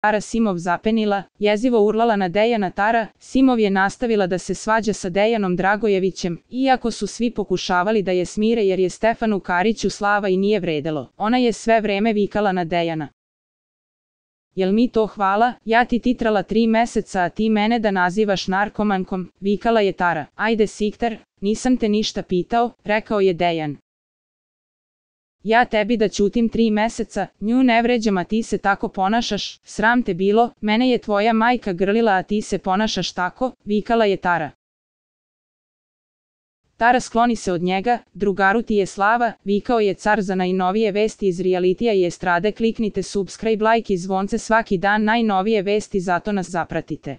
Tara Simov zapenila, jezivo urlala na Dejana. Tara Simov je nastavila da se svađa sa Dejanom Dragojevićem, iako su svi pokušavali da je smire jer je Stefanu Kariću slava i nije vredelo. Ona je sve vreme vikala na Dejana. Jel mi to hvala? Ja ti titrala 3 meseca, a ti mene da nazivaš narkomankom, vikala je Tara. Ajde Siktar, nisam te ništa pitao, rekao je Dejan. Ja tebi da ćutim 3 meseca, nju ne vređam a ti se tako ponašaš, sram te bilo, mene je tvoja majka grlila a ti se ponašaš tako, vikala je Tara. Tara skloni se od njega, drugaru ti je slava, vikao je car. Za najnovije vesti iz realitija i estrade kliknite subscribe, like i zvonce svaki dan, najnovije vesti, zato nas zapratite.